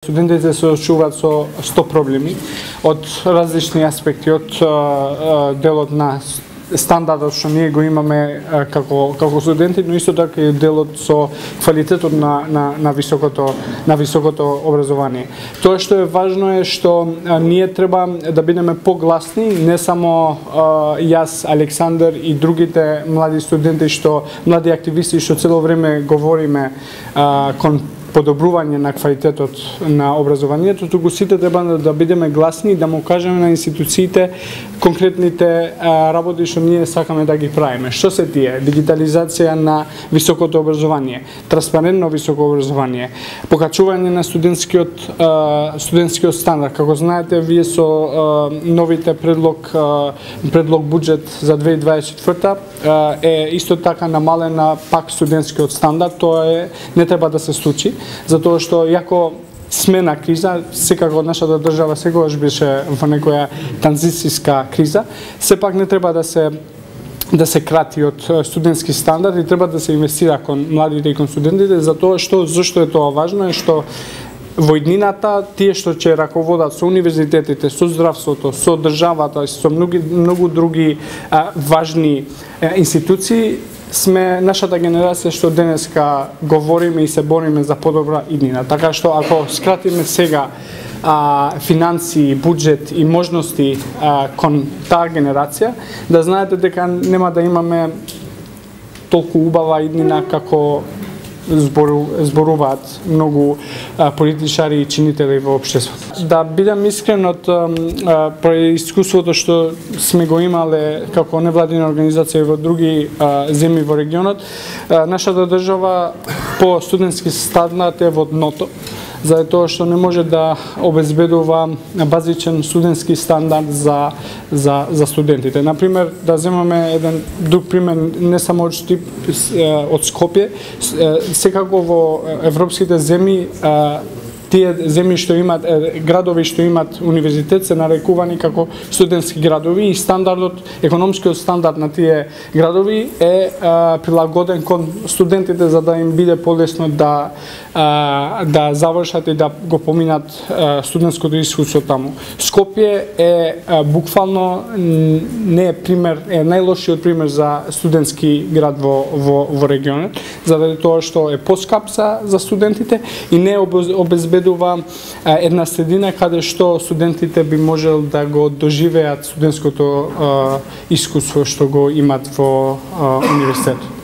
Студентите се соочуваат со 100 проблеми од различни аспекти, од делот на стандардот што ние го имаме како студенти, но исто така и делот со квалитетот на високото образование. Тоа што е важно е што ние треба да бидеме погласни, не само јас, Александар и другите млади студенти млади активисти што цело време говориме кон подобрување на квалитетот на образованието, туку сите треба да бидеме гласни и да му кажеме на институциите конкретните работи што ние сакаме да ги правиме. Што се тие? Дигитализација на високото образование, транспарентно високо образование, покачување на студентскиот стандард. Како знаете, вие со новите предлог буџет за 2024 е исто така намалена пак студентскиот стандард. Тоа не треба да се случи, затоа што јако сме на криза, секако нашата држава секогаш беше во некоја транзицијска криза, сепак не треба да се крати од студентски стандард и треба да се инвестира кон младите и кон студентите, зашто е тоа важно е што во иднината тие што ќе раководат со универзитетите, со здравството, со државата, со многу други важни институции, сме нашата генерација што денеска говориме и се бориме за подобра иднина. Така што ако скратиме сега финансии, буџет и можности кон таа генерација, да знаете дека нема да имаме толку убава иднина како зборуваат многу политичари и чинители во општеството. Да бидам искрен, од искуството што сме го имале како невладина организација во други земји во регионот, нашата држава по студентски стандард е во дното, заради тоа што не може да обезбедува базичен студентски стандард за студентите. Например, да земаме еден друг пример, не само од Скопје, секако во европските земји, тие земји што имаат градови што имаат универзитет се нарекувани како студентски градови и економскиот стандард на тие градови е прилагоден кон студентите за да им биде полесно да завршат и да го поминат студентското искуство таму. Скопје е буквално не е пример, е најлошиот пример за студентски град во регионот, заради тоа што е поскап за студентите и не обезбедува една средина каде што студентите би можел да го доживеат студентското искуство што го имат во универзитетот.